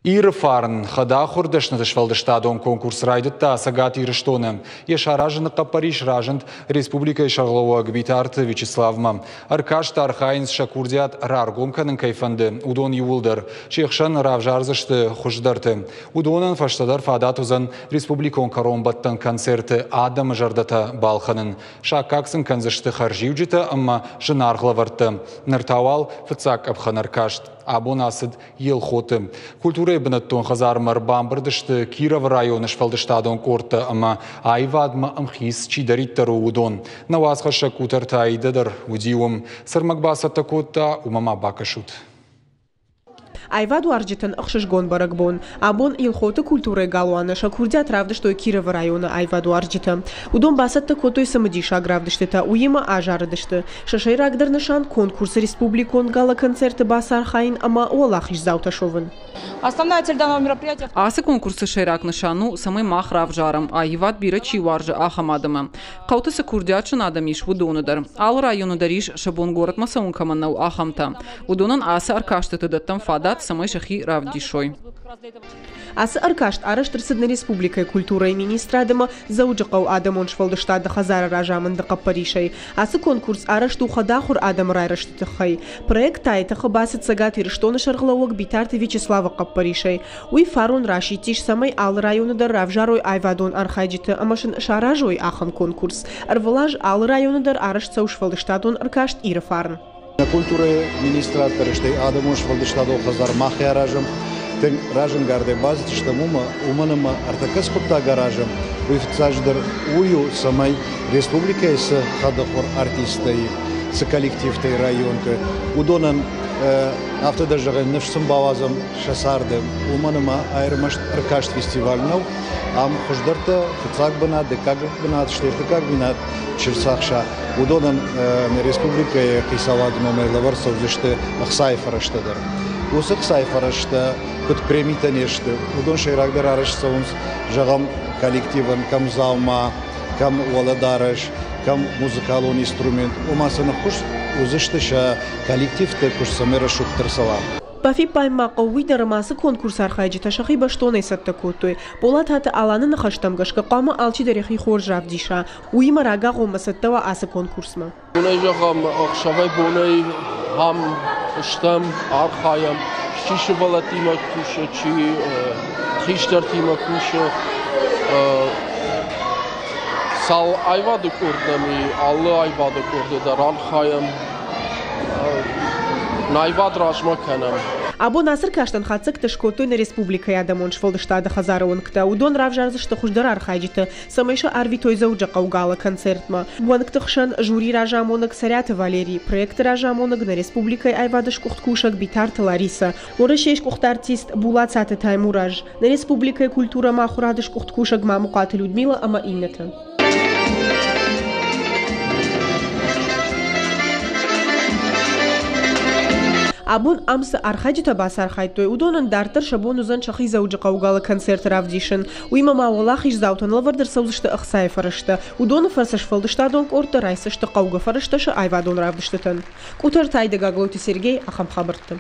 Иры фарн хӕдахуыр дӕсныты сфӕлдыстадон конкурс райдыдта Цӕгат Ирыстоны. Йӕ саразыны хъӕппӕрис разынд республикӕйы сӕргълӕууӕг Битарты Вячеславмӕ. Ӕркасты архайынц сӕ курдиат раргом кӕнын кӕй фӕнды, уыдон иууылдӕр. Се хсӕн равзардзысты хуыздӕрты. Уыдонӕн фӕстӕдӕр фадат уыдзӕн республикон кӕронбӕттӕн концерты адӕмы зӕрдӕтӕ балхӕнын. Саккаг сын кӕндзысты хӕрзиуджытӕ ӕмӕ зынаргъ лӕвӕрттӕ. Ныр та уал фыццаг къӕпхӕн ӕркаст. Абон ацыд Елхоты. Культурӕйы бынӕттон хӕдзармӕ ӕрбамбырд сты Кировы районы сфӕлдыстадон къордтӕ ӕмӕ аивадмӕ ӕмхиц чидӕриддӕр у, уыдон. Нӕ уацхӕссӕг Къутӕрты Аидӕ дӕр уыди уым. Цы рмӕг бацӕттӕ кодта, уымӕ ма бакӕсут. Аивадуарзджытӕн ӕхсызгон бӕрӕгбон. Абон Елхоты культурӕйы галуаны сӕ курдиат равдыстой Кировы районы аивадуарзджытӕ. Уыдон бацӕттӕ кодтой цымыдисаг равдыстытӕ, уыимӕ азарыдысты. Сӕ сӕйрагдӕр нысан конкурсы республикон гала-концерты бацархайын ӕмӕ уӕлахиздзаутӕ суӕвын. Основная цель данного мероприятия... Ацы конкурсы сӕйраг нысан у, цӕмӕй мах равзарӕм, аивад бирӕ чи уарзы, ахӕм адӕмы. Хъӕуты цы курдиатджын адӕм ис, уыдоны дӕр. Алы районы дӕр ис, сӕ бон горӕтмӕ цӕуын кӕмӕн нӕу, ахӕмтӕ. Уыдонӕн ацы ӕркастыты дӕттӕм фадат, цӕмӕй сӕхи равдисой. Ацы ӕркаст арӕзт ӕрцыд нӕ республикӕйы культурӕйы министрад ӕмӕ Дзӕуджыхъӕуы адӕмон сфӕлдыстады хӕдзары разамынды хъӕппӕрисӕй. Ацы конкурс арӕзт у хӕдахуыр адӕмы райрӕзты тыххӕй. Проект та йӕ тыхы бацыд Цӕгат Ирыстоны сӕргълӕууӕг Битарты Вячеславы хъӕппӕрисӕй. Уый фарон расидтис, цӕмӕй алы районы дӕр равзарой аивадон архайджыты ӕмӕ сын саразой ахӕм конкурс. Ӕрвылаз алы районы дӕр арӕзт цӕуы сфӕлдыстадон ӕркаст Иры фарн. Нӕ культурӕйы министрад дӕр, стӕй адӕмон сфӕлдыстадон хӕдзар мах аразӕм, тынг разӕнгардӕй бацыдыстӕм уымӕ, уымӕн ӕмӕ ӕртӕккӕ цы хъуыддаг аразӕм, уый фыццаджыдӕр уый у, цӕмӕй республикӕйы цы хӕдахуыр артисттӕ и, цы коллективтӕ и районты, уыдонӕн афтӕ дӕр зӕгъӕн, ныфс сын бауадзӕм сӕ царды, уымӕн ӕмӕ ӕрмӕст ӕркаст фестиваль нӕу, ам хуыздӕртӕ фыццаг бынат, дыккаг бынат, стӕй ӕртыккаг бынат чи рцахса, Уыдонӕн нӕ республикӕйы хицауады номӕй лӕвӕрд цӕудзысты ӕхцайы фӕрӕзтӕ дӕр. Уыцы ӕхцайы фӕрӕзтӕ куыд премитӕ не сты, уыдон сӕйрагдӕр арӕзт цӕуынц, зӕгъӕм, коллективӕн кӕм дзаума, кӕм уӕлӕдарӕс, кӕм музыкалон инструмент, ома сын ӕххуыс уыдзысты сӕ коллективты куыст цӕмӕй рӕсугъддӕр цӕуа. Бафиппайын ма хъӕуы уый дӕр, ӕмӕ ацы конкурсы архайджытӕ сӕхи бӕстонӕй цӕттӕ кодтой. Болататы Аланы ныхӕстӕм гӕсгӕ хъуамӕ алчидӕр йӕхи хорз равдиса, Уыимӕ рагагъоммӕ цӕттӕ уа ацы конкурсмӕ. Бонӕй зӕгъӕм, ӕхсӕвӕй-бонӕй ам стӕм, архайӕм. Чи сывӕллӕттимӕ кусы, чи хистӕртимӕ кусы. Цал аивады къорд нӕм и, алы аивады къорды дӕр архайӕм. Нӕ аивад размӕ кӕнӕм. Абон ацы ӕркастӕн хатдзӕгтӕ скодтой нӕ республикӕйы адӕмон сфӕлдыстады хӕдзары уӕнгтӕ. Уыдон равзардзысты хуыздӕр архайджыты, цӕмӕй сӕ арвитой Дзӕуджыхъӕуы гала-концертмӕ. Уӕнгты хсӕн жюри разамонӕг Цӕриаты Валерий, проекты разамонӕг нӕ республикӕйы аивады сгуыхт кусӕг Битарты Ларисӕ, Уӕрӕсейы сгуыхт артист Булацаты Таймураз, нӕ республикӕйы культурӕ ӕмӕ ахуырады сгуыхт кусӕг Мамыхъуаты Людмила ӕмӕ иннӕтӕ. Абон ам цы архайджытӕ бацархайдтой, уыдонӕн дарддӕр сӕ бон уыдзӕн сӕхи Дзӕуджыхъӕуы гала-концерты равдисын. Уыимӕ ма уӕлахиздзаутӕн лӕвӕрд ӕрцӕудзысты ӕхцайы фӕрӕзтӕ. Уыдоны фӕрцы сфӕлдыстадон къордтӕ райсдзысты хъӕугӕ фӕрӕзтӕ сӕ аивадон равдыстытӕн. Къутӕртӕй Гаглойты Сергей ахӕм хабӕртты.